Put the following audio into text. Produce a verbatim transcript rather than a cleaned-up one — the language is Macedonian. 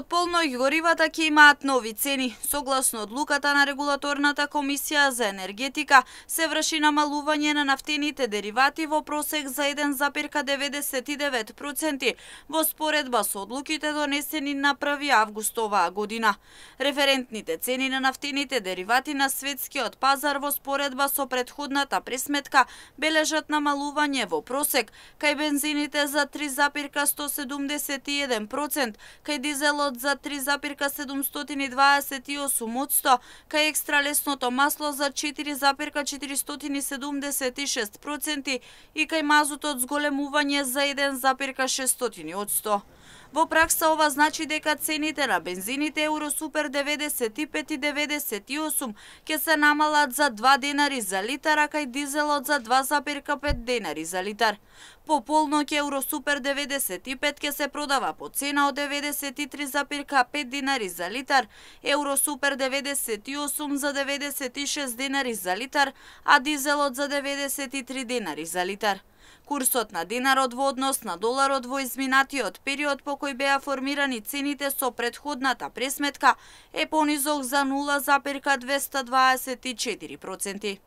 Од полноќ горивата ќе имаат нови цени. Согласно одлуката на Регулаторната комисија за енергетика, се врши намалување на нафтените деривати во просек за еден запирка деветдесет и девет проценти во споредба со одлуките донесени на први август оваа година. Референтните цени на нафтените деривати на светскиот пазар во споредба со претходната пресметка бележат намалување во просек, кај бензините за три запирка сто седумдесет и еден проценти, кај дизелот за три запирка седумстотини дваесет и осум одсто, кај екстралесното масло за четири запирка четиристотини седумдесет и шест проценти и кај мазутот зголемување за еден запирка шестстотини одсто. Во пракса ова значи дека цените на бензините Евросупер деветдесет и пет и деветдесет и осум ќе се намалат за два денари за литар, а кај дизелот за два запирка пет денари за литар. По полноќ Евросупер деветдесет и пет ќе се продава по цена од деветдесет и три запирка пет денари за литар, Евросупер деветдесет и осум за деветдесет и шест денари за литар, а дизелот за деветдесет и три денари за литар. Курсот на динарот во однос на доларот во изминатиот период по кој беа формирани цените со претходната пресметка е понизок за нула запирка двесте дваесет и четири проценти.